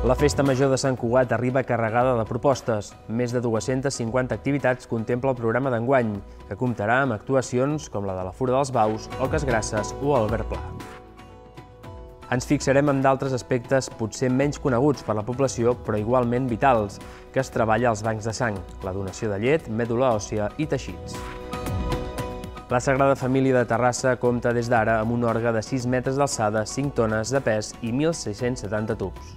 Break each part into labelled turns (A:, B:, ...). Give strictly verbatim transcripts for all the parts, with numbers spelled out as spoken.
A: La Festa Major de Sant Cugat arriba carregada de propostes. Més de dues-centes cinquanta activitats contempla el programa d'enguany, que comptarà amb actuacions com la de la Fura dels Baus, Oques Grasses o Albert Pla. Ens fixarem en d'altres aspectes potser menys coneguts per la població, però igualment vitals, que es treballa als bancs de sang, la donació de llet, mèdula òssia i teixits. La Sagrada Família de Terrassa compta des d'ara amb un orgue de sis metres d'alçada, cinc tones de pes i mil sis-cents setanta tubs.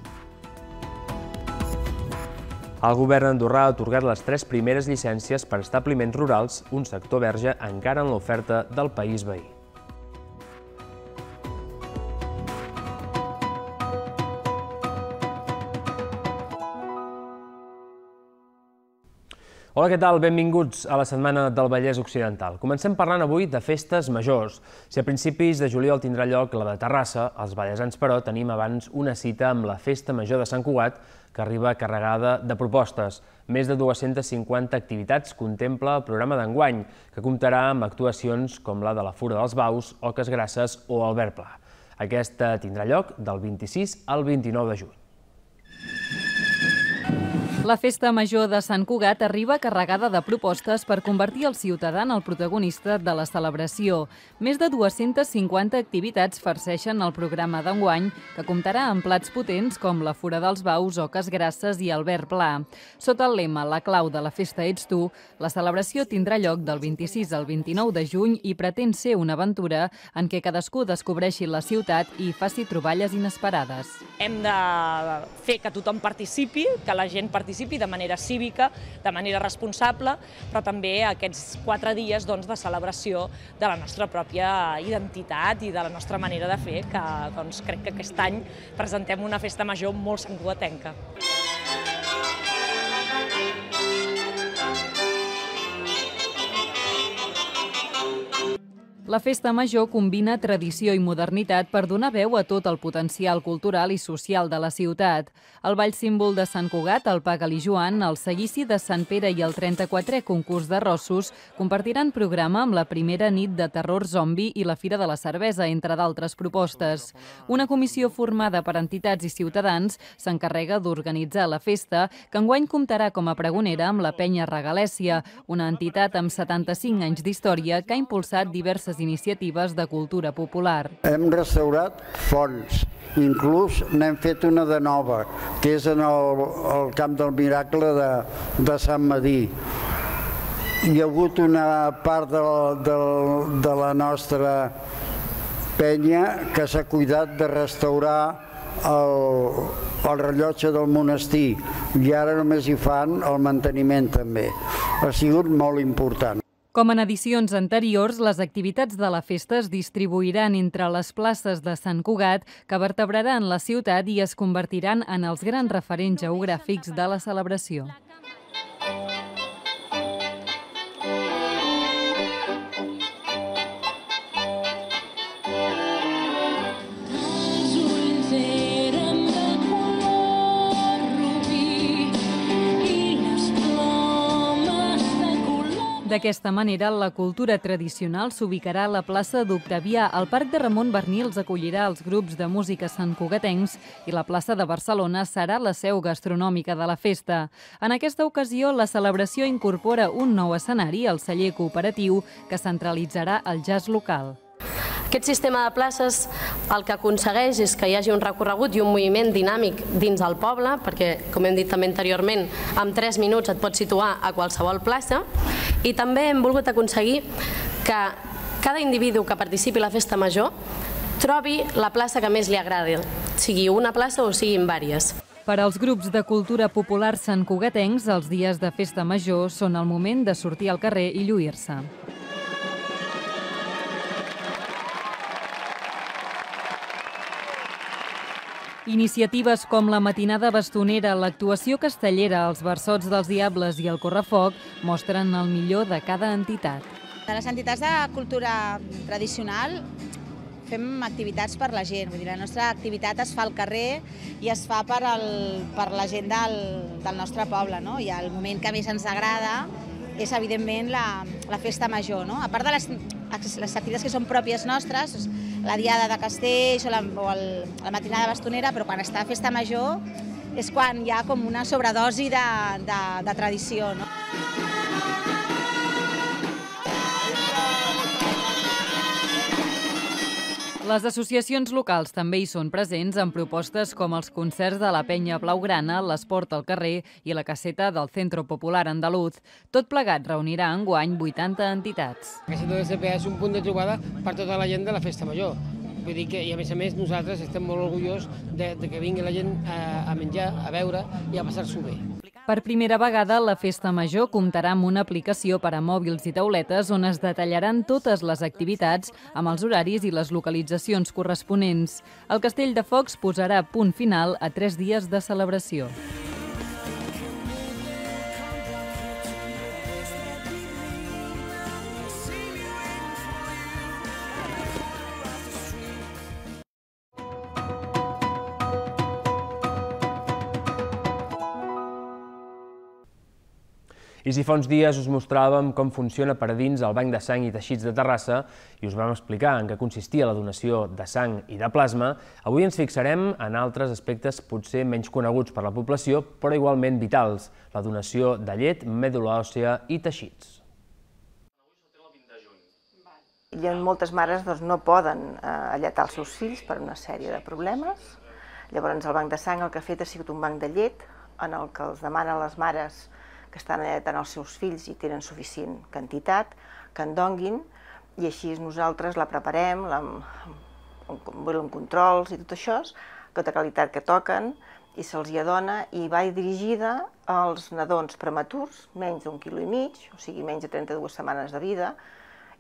A: El govern andorrà ha atorgat les tres primeres llicències per establiments rurals, un sector verge encara en l'oferta del país veí. Hola, què tal? Benvinguts a la Setmana del Vallès Occidental. Comencem parlant avui de festes majors. Si a principis de juliol tindrà lloc la de Terrassa, els vallesans, però, tenim abans una cita amb la Festa Major de Sant Cugat, que arriba carregada de propostes. Més de dues-centes cinquanta activitats contempla el programa d'enguany, que comptarà amb actuacions com la de la Fura dels Baus, Oques Grasses o Albert Pla. Aquesta tindrà lloc del vint-i-sis al vint-i-nou de juny.
B: La Festa Major de Sant Cugat arriba carregada de propostes per convertir el ciutadà en el protagonista de la celebració. Més de dues-centes cinquanta activitats farceixen el programa d'enguany, que comptarà amb plats potents com la Fura dels Baus, Oques Grasses i Albert Pla. Sota el lema "La clau de la festa ets tu", la celebració tindrà lloc del vint-i-sis al vint-i-nou de juny i pretén ser una aventura en què cadascú descobreixi la ciutat i faci troballes inesperades.
C: Hem de fer que tothom participi, que la gent participi de manera cívica, de manera responsable, però també aquests quatre dies de celebració de la nostra pròpia identitat i de la nostra manera de fer, que crec que aquest any presentem una festa major molt santcugatenca.
B: La Festa Major combina tradició i modernitat per donar veu a tot el potencial cultural i social de la ciutat. El ball símbol de Sant Cugat, el Paga-li Joan, el seguici de Sant Pere i el trenta-quatrè concurs de rossos compartiran programa amb la primera nit de terror zombi i la Fira de la Cervesa, entre d'altres propostes. Una comissió formada per entitats i ciutadans s'encarrega d'organitzar la festa, que enguany comptarà com a pregonera amb la Penya Regalèssia, una entitat amb setanta-cinc anys d'història que ha impulsat diverses iniciatives de cultura popular.
D: Hem restaurat fonts, inclús n'hem fet una de nova, que és en el, el Camp del Miracle de, de Sant Medir. Hi ha hagut una part de, de, de la nostra penya que s'ha cuidat de restaurar el, el rellotge del monestir i ara només hi fan el manteniment també. Ha sigut molt important.
B: Com en edicions anteriors, les activitats de la festa es distribuiran entre les places de Sant Cugat, que vertebraran la ciutat i es convertiran en els grans referents geogràfics de la celebració. D'aquesta manera, la cultura tradicional s'ubicarà a la plaça d'Octavià, el Parc de Ramon Barnils acollirà els grups de música santcugatencs i la plaça de Barcelona serà la seu gastronòmica de la festa. En aquesta ocasió, la celebració incorpora un nou escenari, el celler cooperatiu, que centralitzarà el jazz local.
E: Aquest sistema de places el que aconsegueix és que hi hagi un recorregut i un moviment dinàmic dins del poble, perquè, com hem dit també anteriorment, en tres minuts et pots situar a qualsevol plaça, i també hem volgut aconseguir que cada individu que participi a la festa major trobi la plaça que més li agradi, sigui una plaça o siguin vàries.
B: Per als grups de cultura popular santcugatencs, els dies de festa major són el moment de sortir al carrer i lluir-se. Iniciatives com la matinada bastonera, l'actuació castellera, els versots dels diables i el correfoc mostren el millor de cada entitat.
F: De les entitats de cultura tradicional fem activitats per la gent. Vull dir, la nostra activitat es fa al carrer i es fa per, el, per la gent del, del nostre poble, no? I el moment que més ens agrada és, evidentment, la, la festa major, no? A part de les, les activitats que són pròpies nostres, la diada de Castells o la, o el, la matinada bastonera, però quan està a festa major és quan hi ha com una sobredosi de, de, de tradició, no?
B: Les associacions locals també hi són presents amb propostes com els concerts de la Penya Blaugrana, l'Esport al carrer i la caseta del Centro Popular Andaluz. Tot plegat reunirà enguany vuitanta entitats.
G: La caseta de C P A és un punt de trobada per tota la gent de la Festa Major. Vull dir que, i a més a més, nosaltres estem molt orgullosos de, de que vingui la gent a, a menjar, a beure i a passar-s'ho bé.
B: Per primera vegada, la Festa Major comptarà amb una aplicació per a mòbils i tauletes on es detallaran totes les activitats amb els horaris i les localitzacions corresponents. El Castell de Focs posarà punt final a tres dies de celebració.
A: I si fa uns dies us mostràvem com funciona per a dins el Banc de Sang i Teixits de Terrassa i us vam explicar en què consistia la donació de sang i de plasma, avui ens fixarem en altres aspectes potser menys coneguts per la població, però igualment vitals, la donació de llet, mèdula òssea i teixits.
H: I moltes mares doncs, no poden eh, alletar els seus fills per una sèrie de problemes. Llavors el Banc de Sang el que ha fet ha sigut un banc de llet en el que els demana a les mares que estan alletant els seus fills i tenen suficient quantitat, que en donguin, i així nosaltres la preparem, la, amb controls i tot això, tota qualitat que toquen, i se'ls hi adona, i va dirigida als nadons prematurs, menys d'un quilo i mig, o sigui, menys de trenta-dues setmanes de vida,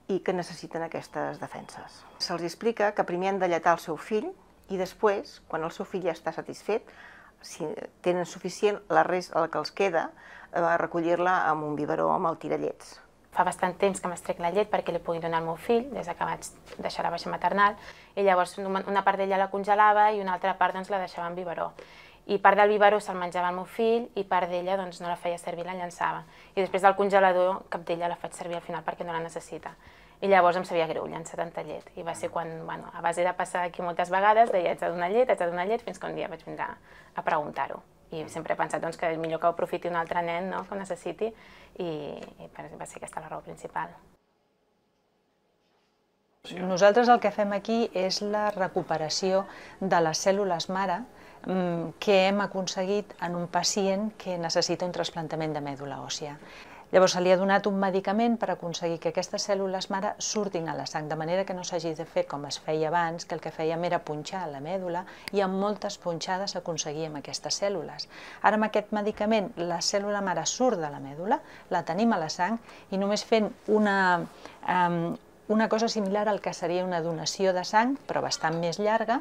H: i que necessiten aquestes defenses. Se'ls explica que primer han d'allatar el seu fill, i després, quan el seu fill ja està satisfet, si tenen suficient, la resta, el que els queda, a recollir-la amb un biberó amb el tirallets.
I: Fa bastant temps que m'estrec la llet perquè li pugui donar al meu fill, des que vaig deixar la baixa maternal, i llavors una part d'ella la congelava i una altra part doncs, la deixava en biberó. I part del biberó se'l menjava el meu fill i part d'ella doncs, no la feia servir, la llançava. I després del congelador cap d'ella la faig servir al final perquè no la necessita. I llavors em sabia greu llançar tanta llet. I va ser quan, bueno, a base de passar aquí moltes vegades, deia, haig de donar llet, haig de donar llet, fins que un dia vaig vindre a preguntar-ho. I sempre he pensat doncs, que és millor que ho aprofiti un altre nen, no?, que ho necessiti, i, i va ser aquesta la raó principal.
J: Nosaltres el que fem aquí és la recuperació de les cèl·lules mare que hem aconseguit en un pacient que necessita un trasplantament de mèdula òssia. Llavors se li ha donat un medicament per aconseguir que aquestes cèl·lules mare surtin a la sang, de manera que no s'hagi de fer com es feia abans, que el que fèiem era punxar la mèdula i amb moltes punxades aconseguíem aquestes cèl·lules. Ara amb aquest medicament la cèl·lula mare surt de la mèdula, la tenim a la sang i només fent una, um, una cosa similar al que seria una donació de sang, però bastant més llarga,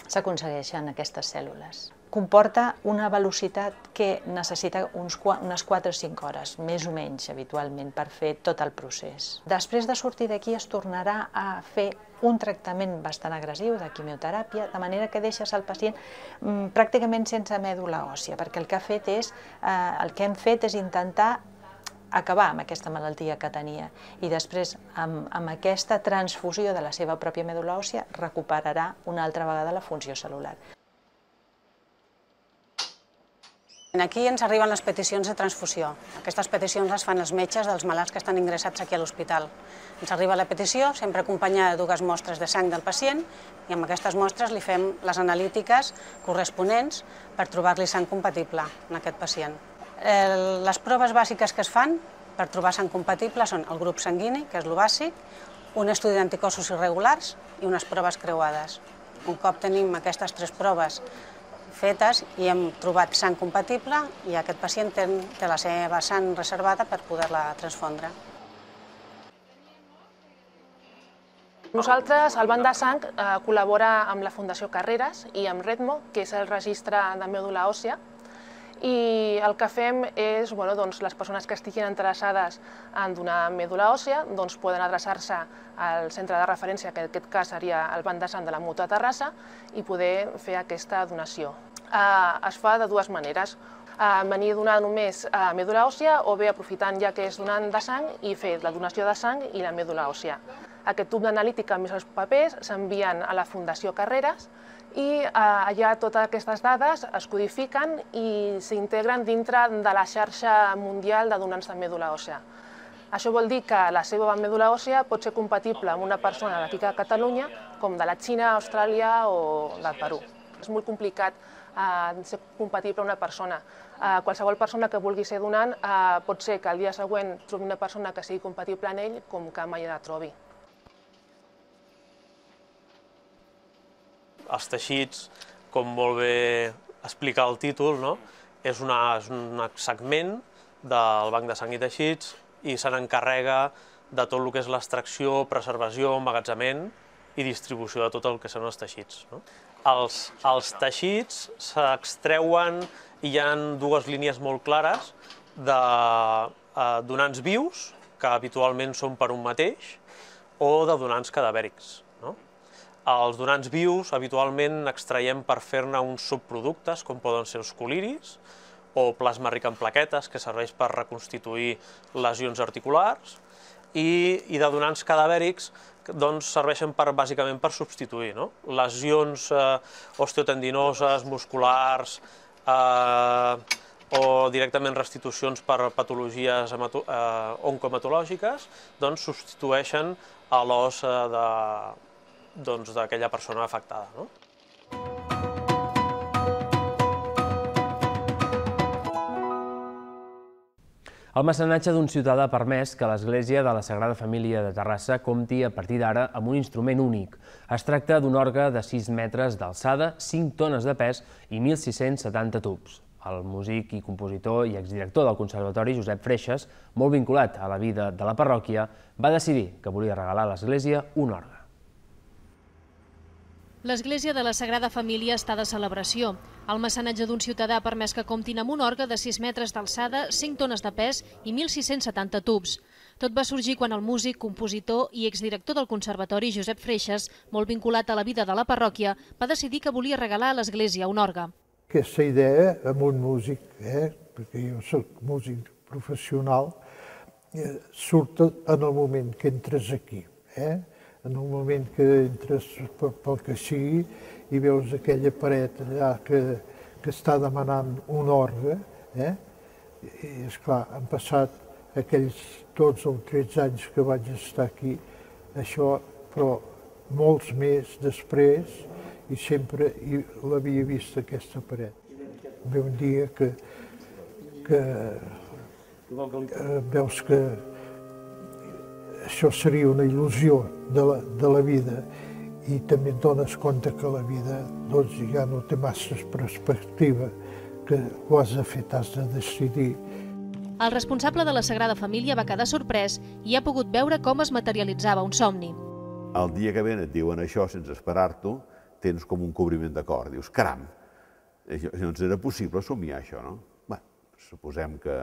J: s'aconsegueixen aquestes cèl·lules. Comporta una velocitat que necessita uns, unes quatre o cinc hores, més o menys habitualment, per fer tot el procés. Després de sortir d'aquí es tornarà a fer un tractament bastant agressiu de quimioteràpia, de manera que deixes el pacient mm, pràcticament sense mèdula òssia, perquè el que, ha fet és, eh, el que hem fet és intentar acabar amb aquesta malaltia que tenia i després, amb, amb aquesta transfusió de la seva pròpia mèdula òssia, recuperarà una altra vegada la funció cel·lular.
K: Aquí ens arriben les peticions de transfusió. Aquestes peticions les fan els metges dels malalts que estan ingressats aquí a l'hospital. Ens arriba la petició, sempre acompanyada de dues mostres de sang del pacient, i amb aquestes mostres li fem les analítiques corresponents per trobar-li sang compatible en aquest pacient. Les proves bàsiques que es fan per trobar sang compatible són el grup sanguini, que és el bàsic, un estudi d'anticossos irregulars i unes proves creuades. Un cop tenim aquestes tres proves fetes i hem trobat sang compatible i aquest pacient té, té la seva sang reservada per poder-la transfondre.
L: Nosaltres, el Banc de Sang, eh, col·labora amb la Fundació Carreras i amb Redmo, que és el registre de mèdula òssia, i el que fem és, bueno, doncs, les persones que estiguin interessades en donar mèdula òssia doncs, poden adreçar-se al centre de referència, que en aquest cas seria el Banc de Sang de la Mútua Terrassa, i poder fer aquesta donació. Eh, es fa de dues maneres. Eh, venir a donar només eh, mèdula òssia o bé aprofitant ja que és donant de sang i fer la donació de sang i la mèdula òssia. Aquest tub d'analítica més els papers s'envien a la Fundació Carreras i allà totes aquestes dades es codifiquen i s'integren dintre de la xarxa mundial de donants de mèdula òssea. Això vol dir que la seva mèdula òssea pot ser compatible amb una persona d'aquí a Catalunya com de la Xina, Austràlia o del Perú. És molt complicat ser compatible amb una persona. Qualsevol persona que vulgui ser donant pot ser que el dia següent trobi una persona que sigui compatible amb ell com que mai la trobi.
M: Els teixits, com molt bé explica el títol, és un segment del Banc de Sang i Teixits i se n'encarrega de tot el que és l'extracció, preservació, emmagatzemament i distribució de tot el que són els teixits. Els teixits s'extreuen i hi ha dues línies molt clares de donants vius, que habitualment són per un mateix, o de donants cadavèrics. Els donants vius habitualment extraiem per fer-ne uns subproductes, com poden ser els coliris, o plasma ric en plaquetes, que serveix per reconstituir lesions articulars, i de donants cadavèrics serveixen bàsicament per substituir lesions osteotendinoses, musculars, o directament restitucions per patologies oncohematològiques, doncs substitueixen a l'os d'aquella persona afectada.
A: El mecenatge d'un ciutadà ha permès que l'Església de la Sagrada Família de Terrassa compti a partir d'ara amb un instrument únic. Es tracta d'un orgue de sis metres d'alçada, cinc tones de pes i mil sis-cents setanta tubs. El músic i compositor i exdirector del Conservatori, Josep Freixas, molt vinculat a la vida de la parròquia, va decidir que volia regalar a l'Església un orgue.
N: L'Església de la Sagrada Família està de celebració. El mecenatge d'un ciutadà ha permès que comptin amb un orgue de sis metres d'alçada, cinc tones de pes i mil sis-cents setanta tubs. Tot va sorgir quan el músic, compositor i exdirector del Conservatori, Josep Freixas, molt vinculat a la vida de la parròquia, va decidir que volia regalar a l'Església un orgue.
O: Aquesta idea amb un músic, perquè jo soc músic professional, surt en el moment que entres aquí. En el moment que entres pel que sigui i veus aquella paret allà que està demanant un orgue, i esclar, han passat aquells dotze o tretze anys que vaig estar aquí, això, però molts més després, i sempre l'havia vist aquesta paret. Ve un dia que veus que això seria una il·lusió de la vida i també et dones compte que la vida ja no té massa perspectiva, que ho has de fer, t'has de decidir.
N: El responsable de la Sagrada Família va quedar sorprès i ha pogut veure com es materialitzava un somni.
P: El dia que ven et diuen això sense esperar-t'ho, tens com un cobriment de cor. Dius, caram, no ens era possible somiar això, no? Bé, suposem que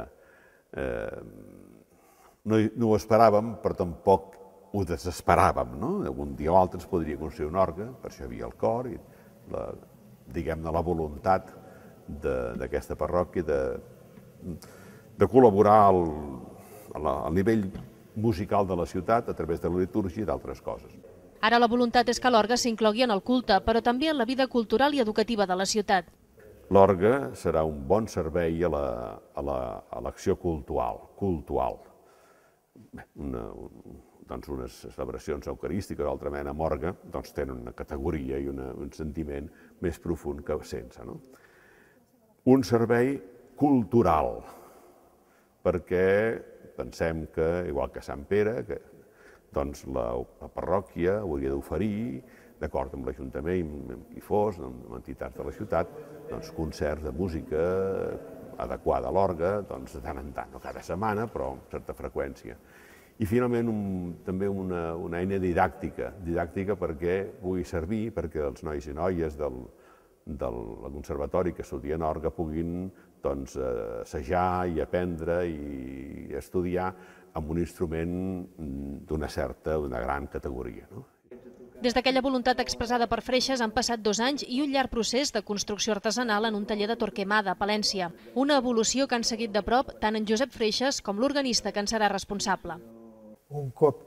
P: no ho esperàvem, però tampoc ho desesperàvem, no? Un dia o altre ens podria construir un orgue, per això hi havia el cor i, diguem-ne, la voluntat d'aquesta parròquia de col·laborar al nivell musical de la ciutat a través de la litúrgia i d'altres coses.
N: Ara la voluntat és que l'orgue s'inclogui en el culte, però també en la vida cultural i educativa de la ciutat.
P: L'orgue serà un bon servei a l'acció cultural. Unes celebracions eucarístiques, d'altra mena, amb orgue, tenen una categoria i un sentiment més profund que sense. Un servei cultural, perquè pensem que, igual que Sant Pere, la parròquia hauria d'oferir, d'acord amb l'Ajuntament, amb qui fos, amb entitats de la ciutat, concerts de música adequada a l'orgue, de tant en tant, no cada setmana, però amb certa freqüència. I finalment també una eina didàctica, didàctica perquè pugui servir perquè els nois i noies del conservatori que estudien orgue puguin assajar i aprendre i estudiar amb un instrument d'una certa, d'una gran categoria.
N: Des d'aquella voluntat expressada per Freixas han passat dos anys i un llarg procés de construcció artesanal en un taller de Torquemada, a Palència. Una evolució que han seguit de prop tant en Josep Freixas com l'organista que en serà responsable.
O: Un cop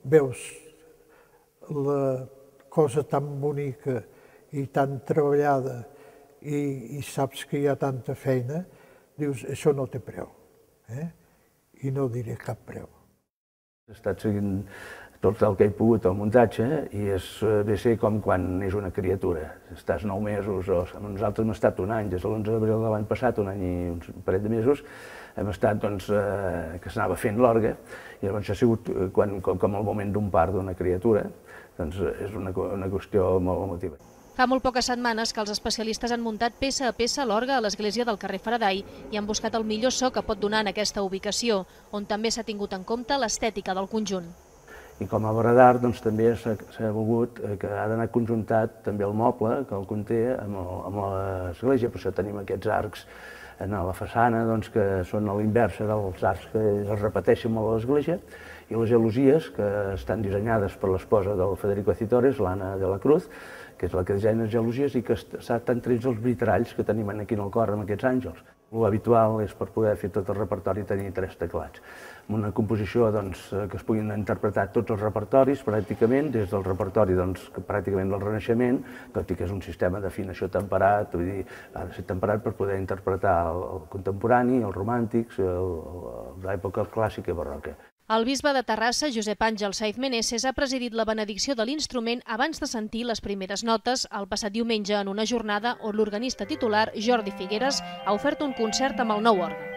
O: veus la cosa tan bonica i tan treballada i, i saps que hi ha tanta feina, dius, això no té preu. Eh? I no diré cap preu.
Q: He estat seguint tot el que he pogut al muntatge i és bé ser com quan és una criatura. Estàs nou mesos, o nosaltres hem estat un any, des de l'onze d'abril de l'any passat, un any i un parell de mesos, hem estat doncs, eh, que s'anava fent l'orgue, i llavors ha sigut quan, com, com el moment d'un part d'una criatura, doncs és una, una qüestió molt emotiva.
N: Fa molt poques setmanes que els especialistes han muntat peça a peça l'orgue a l'església del carrer Faraday i han buscat el millor so que pot donar en aquesta ubicació, on també s'ha tingut en compte l'estètica del conjunt.
Q: I com a obra d'art doncs, també s'ha volgut que ha d'anar conjuntat també el moble que el conté amb l'església, per això tenim aquests arcs a la façana doncs, que són a l'inversa dels arcs que es repeteixen molt a l'església, i les gelosies que estan dissenyades per l'esposa del Federico Citores, l'Anna de la Cruz, que és la que dissenya les gelosies i que estan trets els vitralls que tenim aquí en el cor amb aquests àngels. L'habitual és per poder fer tot el repertori tenir tres teclats. Amb una composició doncs, que es puguin interpretar tots els repertoris pràcticament, des del repertori doncs, pràcticament del Renaixement, tot i que és un sistema d'afinació temperat, vull dir, ha de ser temperat per poder interpretar el, el contemporani, els romàntics, l'època clàssica i barroca.
N: El bisbe de Terrassa, Josep Àngel Saiz Meneses, ha presidit la benedicció de l'instrument abans de sentir les primeres notes el passat diumenge en una jornada on l'organista titular, Jordi Figueres, ha ofert un concert amb el nou orgue.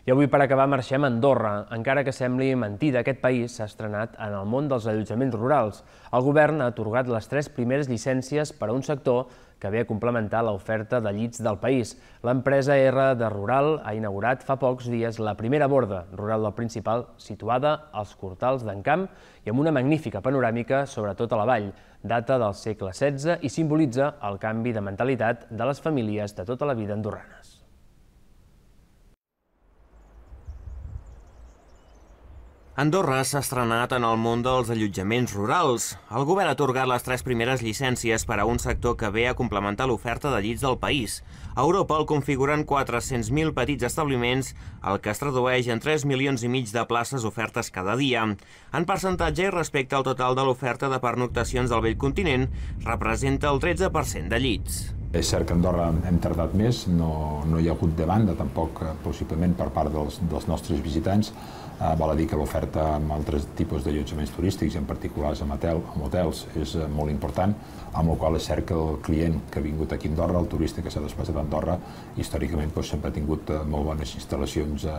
A: I avui, per acabar, marxem a Andorra. Encara que sembli mentida, aquest país s'ha estrenat en el món dels allotjaments rurals. El govern ha atorgat les tres primeres llicències per a un sector que ve a complementar l'oferta de llits del país. L'empresa R de Rural ha inaugurat fa pocs dies la primera borda rural del Principal, situada als Cortals d'en Camp i amb una magnífica panoràmica sobre tota la vall. Data del segle setze i simbolitza el canvi de mentalitat de les famílies de tota la vida andorranes.
R: Andorra s'ha estrenat en el món dels allotjaments rurals. El govern ha atorgat les tres primeres llicències per a un sector que ve a complementar l'oferta de llits del país. A Europa el configuren quatre-cents mil petits establiments, el que es tradueix en tres milions i mig de places ofertes cada dia. En percentatge i respecte al total de l'oferta de pernoctacions del vell continent, representa el tretze per cent de llits.
S: És cert que a Andorra hem tardat més, no, no hi ha hagut demanda, tampoc possiblement per part dels, dels nostres visitants. Eh, val a dir que l'oferta amb altres tipus d'allotjaments turístics, en particular amb, hotel, amb hotels, és molt important, amb la qual és cert que el client que ha vingut aquí a Andorra, el turista que s'ha desplaçat a Andorra, històricament doncs, sempre ha tingut eh, molt bones instal·lacions eh,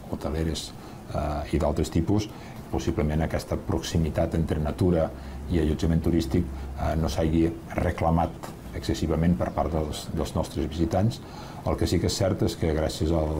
S: hoteleres eh, i d'altres tipus. Possiblement aquesta proximitat entre natura i allotjament turístic eh, no s'hagi reclamat excessivament per part dels, dels nostres visitants. El que sí que és cert és que gràcies al,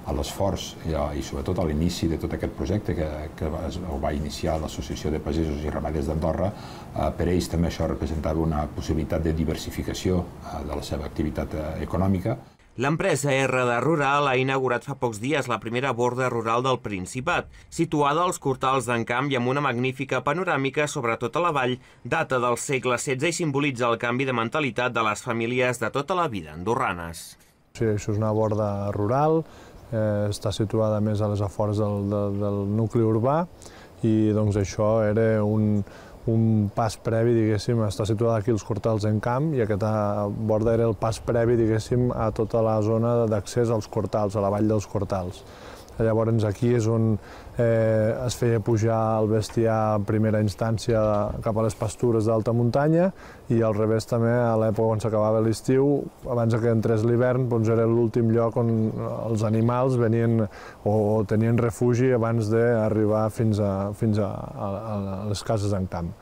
S: a l'esforç i, i sobretot a l'inici de tot aquest projecte que, que es, va iniciar l'Associació de Pagesos i Ramaders d'Andorra, eh, per ells també això representava una possibilitat de diversificació eh, de la seva activitat eh, econòmica.
R: L'empresa R de Rural ha inaugurat fa pocs dies la primera borda rural del Principat, situada als Cortals d'en Camp i amb una magnífica panoràmica sobre tota la vall, data del segle setze i simbolitza el canvi de mentalitat de les famílies de tota la vida andorranes.
T: Sí, això és una borda rural, eh, està situada més a les afores del, del, del nucli urbà i doncs això era un, un pas previ, diguéssim, està situada aquí als Cortals d'en Camp i aquesta borda era el pas previ, diguéssim, a tota la zona d'accés als Cortals, a la vall dels Cortals. Llavors aquí és on eh, es feia pujar el bestiar en primera instància cap a les pastures d'alta muntanya i al revés també a l'època on s'acabava l'estiu, abans que entrés l'hivern, doncs era l'últim lloc on els animals venien o tenien refugi abans d'arribar fins, a, fins a, a, a les cases d'en Camp.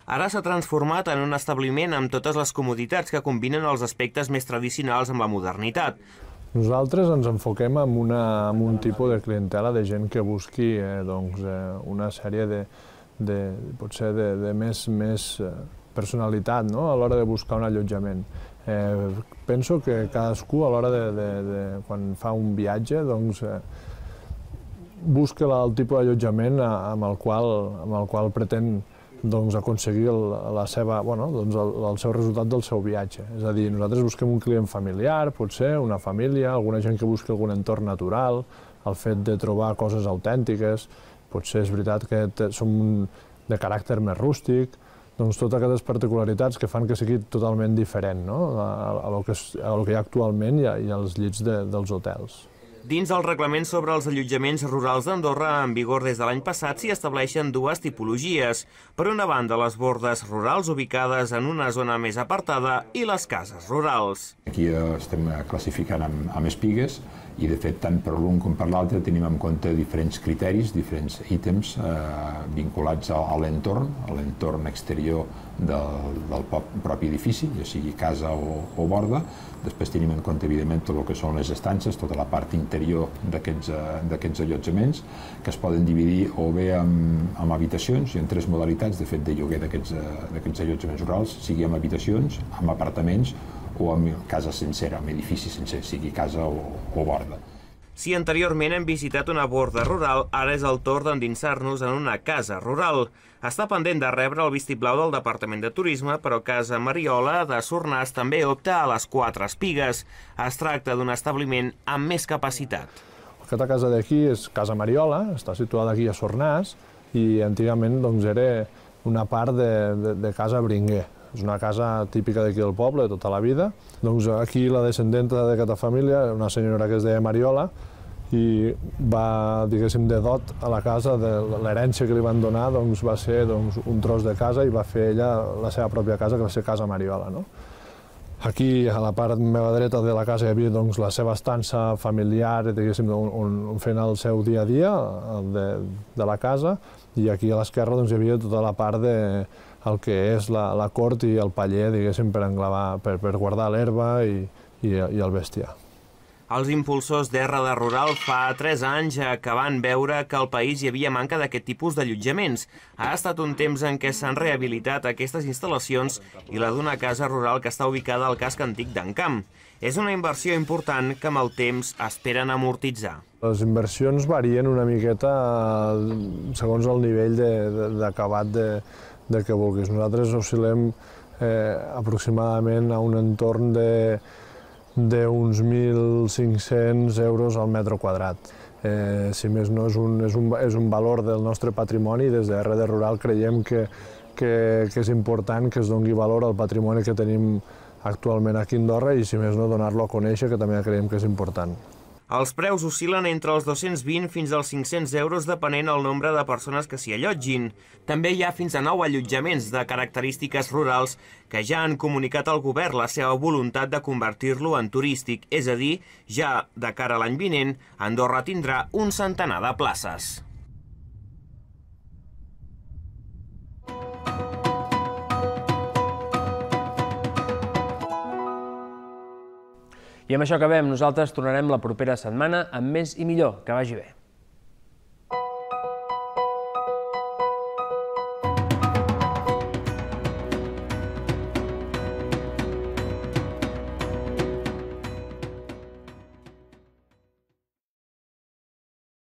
R: Ara s'ha transformat en un establiment amb totes les comoditats que combinen els aspectes més tradicionals amb la modernitat.
T: Nosaltres ens enfoquem en, una, en un tipus de clientela de gent que busqui eh, doncs, eh, una sèrie de, potser de més personalitat a l'hora de buscar un allotjament. Penso que cadascú a l'hora de, quan fa un viatge, busca el tipus d'allotjament amb el qual pretén aconseguir el seu resultat del seu viatge. És a dir, nosaltres busquem un client familiar, potser, una família, alguna gent que busqui algun entorn natural, el fet de trobar coses autèntiques, potser és veritat que som de caràcter més rústic, doncs totes aquestes particularitats que fan que sigui totalment diferent a el que hi ha actualment i als llits dels hotels.
R: Dins el reglament sobre els allotjaments rurals d'Andorra, en vigor des de l'any passat, s'hi estableixen dues tipologies. Per una banda, les bordes rurals ubicades en una zona més apartada i les cases rurals.
S: Aquí estem classificant amb espigues i, de fet, tant per l'un com per l'altre tenim en compte diferents criteris, diferents ítems vinculats a l'entorn, a l'entorn exterior del propi edifici, ja sigui casa o borda. Després tenim en compte, evidentment, tot el que són les estances, tota la part interior d'aquests allotjaments, que es poden dividir o bé en habitacions, i en tres modalitats, de fet, de lloguer d'aquests allotjaments rurals, sigui en habitacions, en apartaments o en casa sencera, en edifici sencer, sigui casa o borda.
R: Si anteriorment hem visitat una borda rural, ara és el torn d'endinsar-nos en una casa rural. Està pendent de rebre el vistiplau del Departament de Turisme, però Casa Mariola de Sornàs també opta a les quatre espigues. Es tracta d'un establiment amb més capacitat.
T: Aquesta casa d'aquí és Casa Mariola, està situada aquí a Sornàs i antigament era una part de Casa Bringuer. És una casa típica d'aquí del poble, tota la vida. Doncs aquí la descendenta d'aquesta família, una senyora que es deia Mariola, i va, diguéssim, de dot a la casa, de l'herència que li van donar, va ser un tros de casa i va fer ella la seva pròpia casa, que va ser Casa Mariola. Aquí, a la part meva dreta de la casa, hi havia la seva estança familiar, diguéssim, on fent el seu dia a dia de la casa, i aquí a l'esquerra hi havia tota la part de el que és la cort i el paller, diguéssim, per guardar l'herba i el bestiar.
R: Els impulsors d'R de Rural fa tres anys que van veure que al país hi havia manca d'aquest tipus d'allotjaments. Ha estat un temps en què s'han rehabilitat aquestes instal·lacions i la d'una casa rural que està ubicada al casc antic d'Encamp. És una inversió important que amb el temps esperen amortitzar.
T: Les inversions varien una miqueta segons el nivell d'acabat de que vulguis. Nosaltres oscil·lem aproximadament a un entorn d'uns mil cinc-cents euros al metre quadrat. Si més no, és un valor del nostre patrimoni i des de R de Rural creiem que és important que es doni valor al patrimoni que tenim actualment aquí a Andorra i, si més no, donar-lo a conèixer, que també creiem que és important.
R: Els preus oscil·len entre els dos-cents vint fins als cinc-cents euros depenent del nombre de persones que s'hi allotgin. També hi ha fins a nou allotjaments de característiques rurals que ja han comunicat al govern la seva voluntat de convertir-lo en turístic, és a dir, ja de cara a l'any vinent, Andorra tindrà un centenar de places.
A: I amb això acabem. Nosaltres tornarem la propera setmana amb més i millor. Que vagi bé.